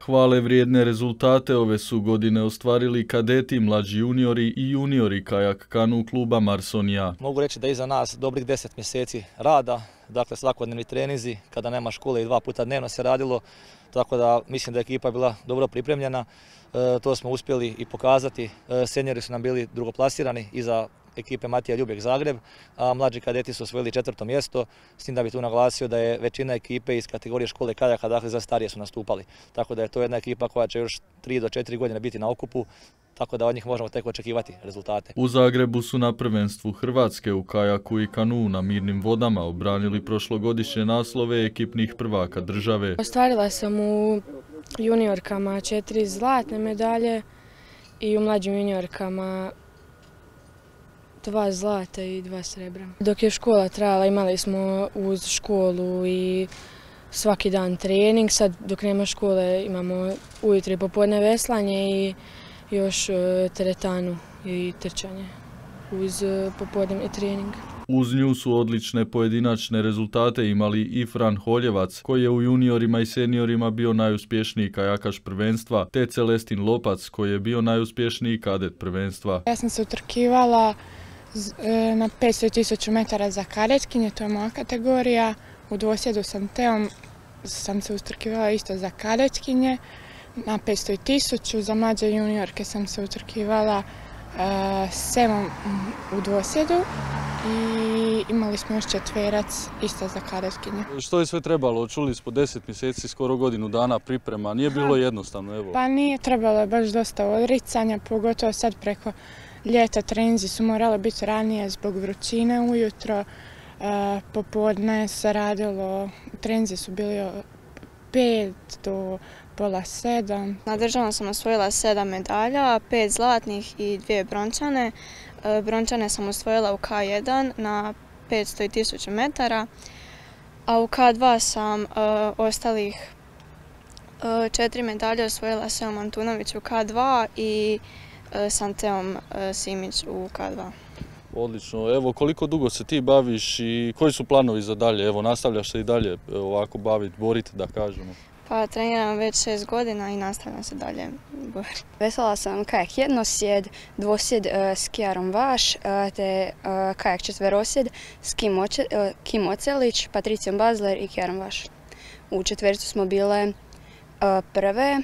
Hvale vrijedne rezultate ove su godine ostvarili kadeti, mlađi juniori i juniori kajak kanu kluba Marsonija. Mogu reći da je iza nas dobrih 10 mjeseci rada, dakle svakodnevni treninzi, kada nema škole i 2 puta dnevno se radilo, tako da mislim da je ekipa bila dobro pripremljena. To smo uspjeli i pokazati. Seniori su nam bili drugoplasirani iza ekipe Matija Ljubek Zagreb, a mlađi kadeti su osvojili 4. mjesto, s tim da bi tu naglasio da je većina ekipe iz kategorije škole kajaka, dakle za starije su nastupali. Tako da je to jedna ekipa koja će još 3 do 4 godine biti na okupu, tako da od njih možemo tek očekivati rezultate. U Zagrebu su na prvenstvu Hrvatske u kajaku i kanu na mirnim vodama obranili prošlogodišnje naslove ekipnih prvaka države. Ostvarila sam u juniorkama 4 zlatne medalje i u mlađim juniorkama 2 zlata i 2 srebra. Dok je škola trajala imali smo uz školu i svaki dan trening. Sad dok nema škole imamo ujutro i popodne veslanje i još teretanu i trčanje uz popodnevni trening. Uz nju su odlične pojedinačne rezultate imali i Fran Holjevac, koji je u juniorima i seniorima bio najuspješniji kajakaš prvenstva, te Celestin Lopac, koji je bio najuspješniji kadet prvenstva. Ja sam se utrkivala na 500 i 1000 metara za kadetkinje, to je moja kategorija. U dvosjedu sa Teom sam se utrkivala isto za kadetkinje, na 500 i 1000, za mlađe juniorke sam se utrkivala s Emom u dvosjedu i imali smo još 4 isto za kadetkinje. Što je sve trebalo? Čuli smo 10 mjeseci, skoro godinu dana priprema, nije bilo jednostavno, evo. Pa nije, trebalo je baš dosta odricanja, pogotovo sad preko ljeta treninzi su morali biti ranije zbog vrućine ujutro, popodne se radilo, treninzi su bili od 5 do pola 7. Na državnom sam osvojila 7 medalja, 5 zlatnih i 2 brončane. Brončane sam osvojila u K1 na 500 i 1000 metara, a u K2 sam ostalih 4 medalje osvojila s Emom Antunović u K2 i s Anteom Simić u K2. Odlično. Evo, koliko dugo se ti baviš i koji su planovi za dalje? Evo, nastavljaš se i dalje ovako baviti, boriti, da kažemo? Pa treniram već 6 godina i nastavljam se dalje boriti. Veslala sam kajak jednosjed, dvosjed s Kijarom Vaš, te kajak četverosjed s Kim Ocelić, Patricijom Bazler i Kijarom Vaš. U četvericu smo bile prve,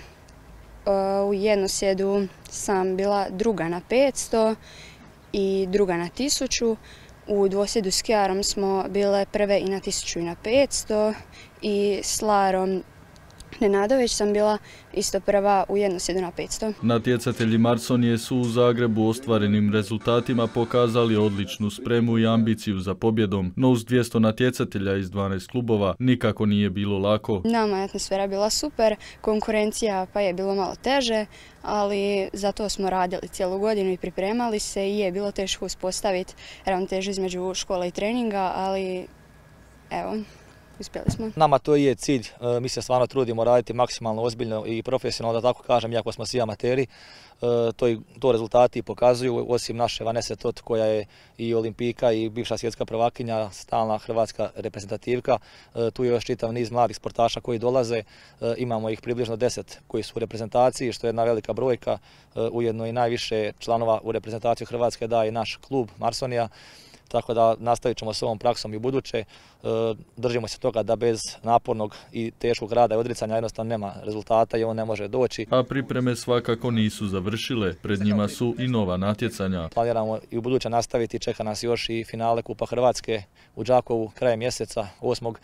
u jednosjedu sam bila druga na 500 i druga na 1000. U dvosjedu s Kijarom smo bile prve i na 1000 i na 500 i s Larom Nenadović sam bila isto prva u jednosjedu na 500. Natjecatelji Marsonije su u Zagrebu ostvarenim rezultatima pokazali odličnu spremu i ambiciju za pobjedom, no uz 200 natjecatelja iz 12 klubova nikako nije bilo lako. Nama je atmosfera bila super, konkurencija pa je bilo malo teže, ali za to smo radili cijelu godinu i pripremali se i je bilo teško uspostaviti ravnotežu između škole i treninga, ali evo, uspjeli smo. Nama to je cilj, mi se stvarno trudimo raditi maksimalno ozbiljno i profesionalno, da tako kažem, iako smo svi amateri. To rezultati pokazuju, osim naše Vanese Tot, koja je i olimpijka i bivša svjetska prvakinja, stalna hrvatska reprezentativka. Tu je još čitav niz mladih sportaša koji dolaze, imamo ih približno 10 koji su u reprezentaciji, što je jedna velika brojka, ujedno i najviše članova u reprezentaciju Hrvatske daje i naš klub Marsonija. Tako da nastavit ćemo s ovom praksom i buduće. Držimo se toga da bez napornog i teškog rada i odricanja jednostavno nema rezultata i on ne može doći. A pripreme svakako nisu završile, pred njima su i nova natjecanja. Planiramo i u buduće nastaviti, čeka nas još i finale Kupa Hrvatske u Đakovu krajem mjeseca 8.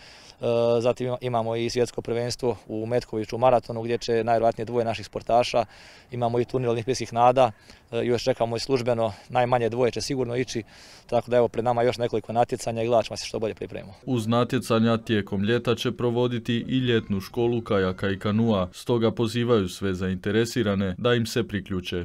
Zatim imamo i svjetsko prvenstvo u Metkoviću u maratonu gdje će najvjerojatnije 2 naših sportaša. Imamo i turnir olimpijskih nada, još čekamo i službeno, najmanje 2 će sigurno ići, tako da evo pred nama još nekoliko natjecanja i gledat ćemo se što bolje pripremimo. Uz natjecanja tijekom ljeta će provoditi i ljetnu školu kajaka i kanua, stoga pozivaju sve zainteresirane da im se priključe.